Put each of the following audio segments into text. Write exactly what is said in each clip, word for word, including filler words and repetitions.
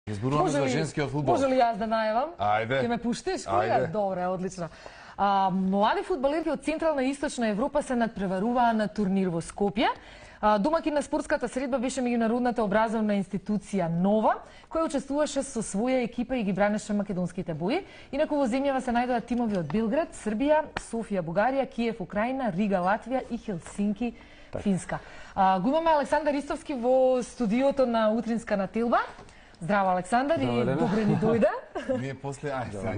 Зборуваме за женскиот фудбал. Може ли јас да најавам? Ајде. Ќе ме пуштиш? Ајде. Добре, одлично. А, млади фудбалерки од Централна и Источна Европа се надпреваруваа на турнир во Скопје. А, домакин на спортската средба беше меѓународната образовна институција Нова, која учествуваше со своја екипа и ги бранеше македонските бои. Инаку во земјава се најдоа тимови од Белград, Србија, Софија, Бугарија, Киев, Украина, Рига, Латвија и Хелсинки, Финска. А, го имаме Александар Истовски во студиото на Утринска на Телба. Здраво, Александар, и добре ни дојде. Ние после ај сега.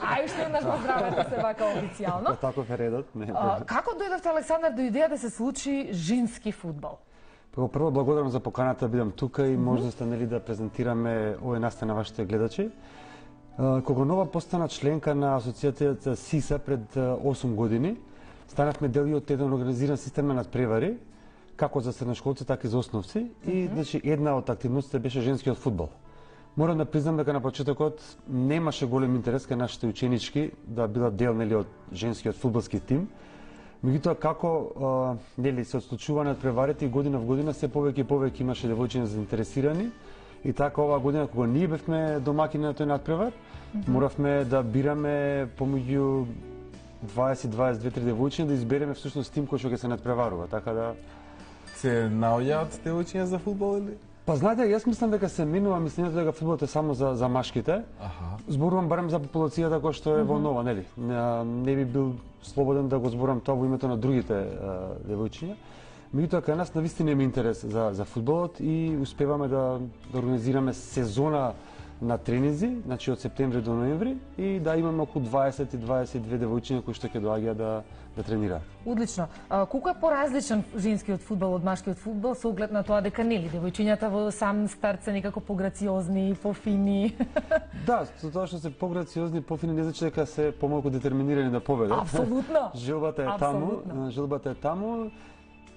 Ај што еднаш го здравете се вака официјално. Таков е редот. Не. А, како дојдовте, Александар, до идеја да се случи женски фудбал? Прво, прво благодарам за поканата да бидам тука и можноста нели да презентираме овој настан на вашите гледачи. Кога Нова постана членка на асоциацијата СИСА пред осум години, станавме дел од еден организиран систем на надпревари, како за средношколци, така и за основци. И mm -hmm. значи, една од активностите беше женскиот фудбал. Морам да признам дека на почетокот немаше голем интерес кај нашите ученички да бидат дел нели од женскиот фудбалски тим. Меѓутоа како а, нели се отслучува надпреварите и година в година се повеќе и повеќе имаше девојчиња заинтересирани. И така оваа година кога ние бевме домакини на тој надпревар, mm -hmm. моравме да бираме помеѓу дваесет дваесет две три девојчиња да избереме всушност тим кој што ќе се надпреварува, така да се наоѓаат девојчиња за фудбал или? Па знаете, јас мислам дека се минува мислењето дека фудбалот е само за за машките. Аха. Зборувам барем за популацијата која што е во Нова, нели? Не, не би бил слободен да го зборам тоа во името на другите а, девојчиња. Меѓутоа кај нас навистина има интерес за за фудбалот и успеваме да, да организираме сезона на тренинзи, значи од септември до ноември, и да имаме околу дваесет и дваесет и две девојчиња кои што ќе доаѓаат да да тренираат. Одлично. А, колку е поразличен женскиот фудбал од машкиот фудбал со оглед на тоа дека нели девојчињата во сам старт се некако пограциозни, пофини? Да, со тоа што се пограциозни, пофини не значи дека се помалку детерминирани да победат. Апсолутно. Желбата е таму, желбата е таму.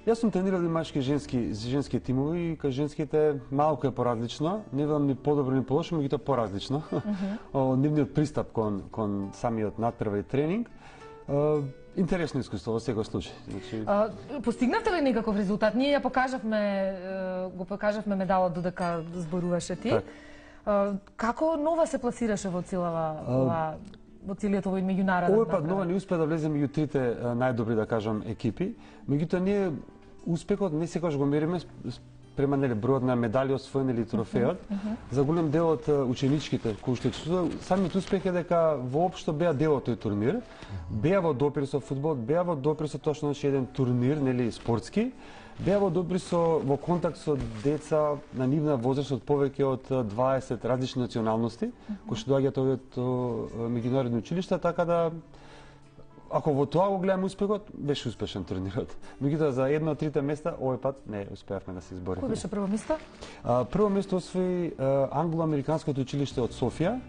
Јас сум тренирал и машки и женски, женски тимови и кај женските малку е поразлично, не велам ни подобро ни полошо, меѓутоа поразлично. Mm -hmm. Нивниот пристап кон кон самиот надпревар и тренинг. Интересно искуство во секој случај. Значи... А, постигнавте ли некаков резултат? Ние ја покажавме, го покажавме медалот додека зборуваше ти. Так. А, како Нова се пласираше во целава ова во целиот овој меѓународен? Овој пат Нова не успеа да влезе меѓу трите најдобри, да кажам, екипи. Меѓутоа ние успехот не секогаш го мериме према нели бројот на медали освоени или трофеот. Uh -huh. За голем дел од ученичките кои што учествуваа, самиот успех е дека воопшто беа дел од тој турнир. Uh -huh. Беа во допир со фудбалот, беа во допир со тоа што значи еден турнир, нели спортски. Беа во допир со во контакт со деца на нивна возраст од повеќе од дваесет различни националности, uh -huh. кои што доаѓаат од меѓународни училишта, така да ако во тоа го гледаме успехот, беше успешен турнирот. Меѓутоа за едно од трите места овој пат не успеавме да се избориме. Кој беше прво место? А, прво место освои Англо-американското училиште од Софија,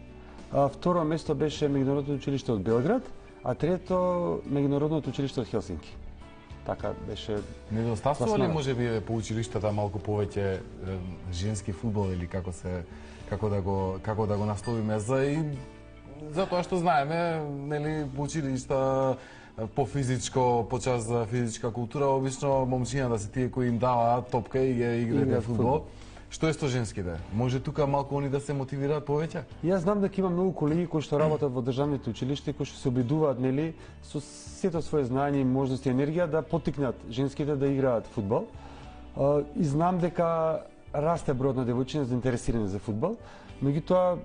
а, второ место беше меѓународното училиште од Белград, а трето меѓународното училиште од Хелсинки. Така беше. Недостасува ли можеби по училиштата малку повеќе женски фудбал или како се како да го како да го насловиме за и затоа што знаеме, нели, по училишта по физичко, по час за физичка култура, обично момчињата се тие кои им даваат топка и ги играат фудбал. Што е со женските? Може тука малку они да се мотивираат повеќе? Јас знам дека има многу колеги кои што работат во државните училишта, кои што се обидуваат, нели, со сето своје знаење, можности и енергија да поттикнат женските да играат фудбал. И знам дека расте бројот на девојчиња заинтересирани за фудбал, меѓутоа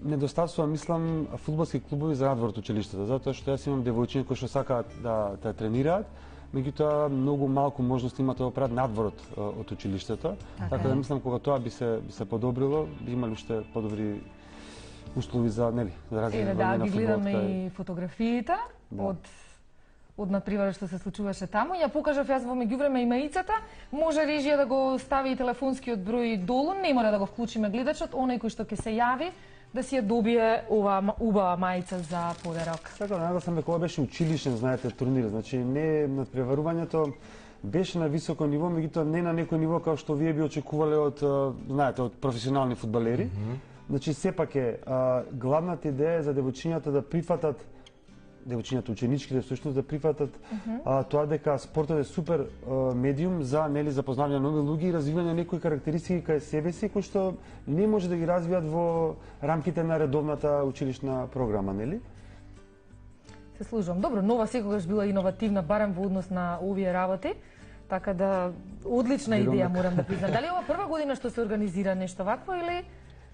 недостасува, мислам, фудбалски клубови за надвор од училиштата, затоа што јас имам девојчиња кои што сакаат да да тренираат, меѓутоа многу малку можности имаат да го прават надвор од, од училиштето. Okay. Така да мислам кога тоа би се би се подобрило, би имали уште подобри услови за, нели, за развивање да, на фудбалот. Да, ги гледаме и фотографиите да. од од надпреварот што се случуваше таму. Ја покажав јас во меѓувреме имаицата. Може режија да го стави и телефонскиот број долу, не мора да го вклучиме гледачот, оној кој што ќе се јави да си ја добие ова убава мајца за подарок. Така, нагласам дека ова беше училишен, знаете, турнир, значи не надпреварувањето беше на високо ниво, меѓутоа не на некој ниво како што вие би очекувале од, знаете, од професионални фудбалери. Mm -hmm. Значи сепак е а, главната идеја е за девојчињата да прифатат девојчињата, ученичките всушност да прифатат uh -huh. а, тоа дека спортот е супер а, медиум за нели запознавање на нови луѓе и развивање на некои карактеристики кај себе си кои што не може да ги развијат во рамките на редовната училишна програма, нели? Се служам. Добро, Нова секогаш била иновативна барем во однос на овие работи. Така да одлична идеја морам да признам. Дали ова прва година што се организира нешто вакво или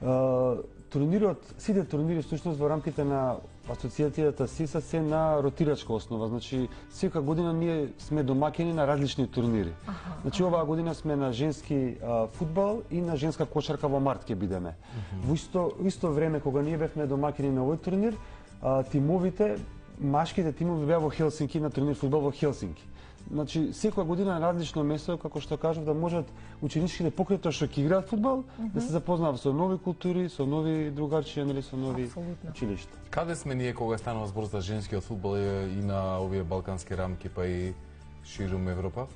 Uh, турнирот, сите турнири всушност во рамките на асоциацијата СИСА се на ротирачка основа, значи секоја година ние сме домаќини на различни турнири. Аха, значи аха. Оваа година сме на женски uh, фудбал и на женска кошарка во март ќе бидеме. Uh-huh. Во исто, исто време кога ние бевме домаќини на овој турнир, uh, тимовите, машките тимови беа во Хелсинки на турнир фудбал во Хелсинки. Значи, секоја година на различно место, како што кажав, да можат ученичките покрај тоа што ќе играат фудбал, mm -hmm. да се запознаат со нови култури, со нови другарчија, нели, со нови Абсолютно. Училишта. Каде сме ние кога станува збор за женскиот фудбал и на овие балкански рамки, па и ширум Европа?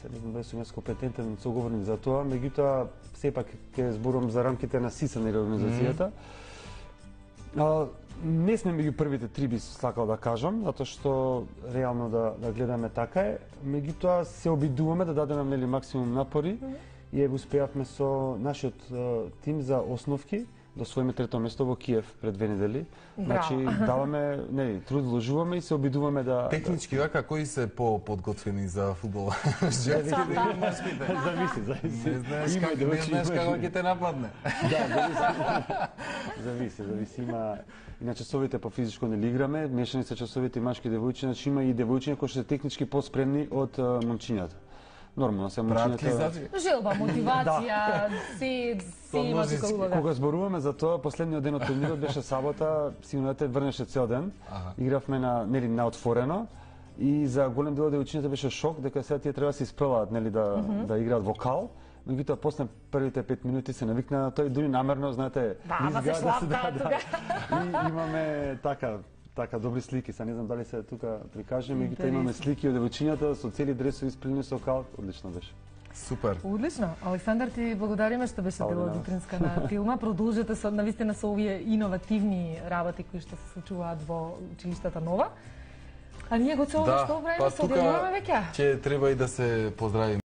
Се не знам дали сум јас компетентен соговорник за тоа, меѓутоа сепак ќе зборувам за рамките на СИСА, нели, организацијата. Mm -hmm. Не сме меѓу првите три, би сакал да кажам, затоа што реално да, да гледаме така е. Меѓутоа се обидуваме да дадеме нели максимум напори mm -hmm. и е успеавме со нашиот uh, тим за основки да освоиме трето место во Киев пред две недели. Значи даваме, нели, труд вложуваме и се обидуваме да технички вака кои се по-подготвени за фудбал? Женските или мажките? Зависи, зависи. Не знаеш как, не знаеш како ќе те нападне. Да, зависи. Зависи, зависи. Има и на часовите по физичко нели играме, мешани се часовите машки и девојчиња, значи има и девојчиња кои што се технички по-спремни од момчињата. Нормално се момчињата. Желба, мотивација, си си има тука улога. Кога зборуваме за тоа, последниот ден од турнирот беше сабота, сигурно врнеше цел ден. Ага. Игравме на нели на отворено и за голем дел од девојчињата беше шок дека сега тие треба да се испрелаат нели да mm -hmm. да играат вокал. Меѓутоа после првите пет минути се навикна на тоа и дури намерно, знаете, да, се да се да, да. И имаме така така добри слики, са не знам дали се тука прикажеме, меѓутоа имаме слики од девојчињата со цели дресови исприлени со кал, одлично беше. Супер. Одлично. Александар, ти благодариме што беше дел од утринска на филма. Продолжете со навистина со овие иновативни работи кои што се случуваат во училиштата Нова. А ние го цело да, што време па се одјавуваме веќе. Ќе треба и да се поздравиме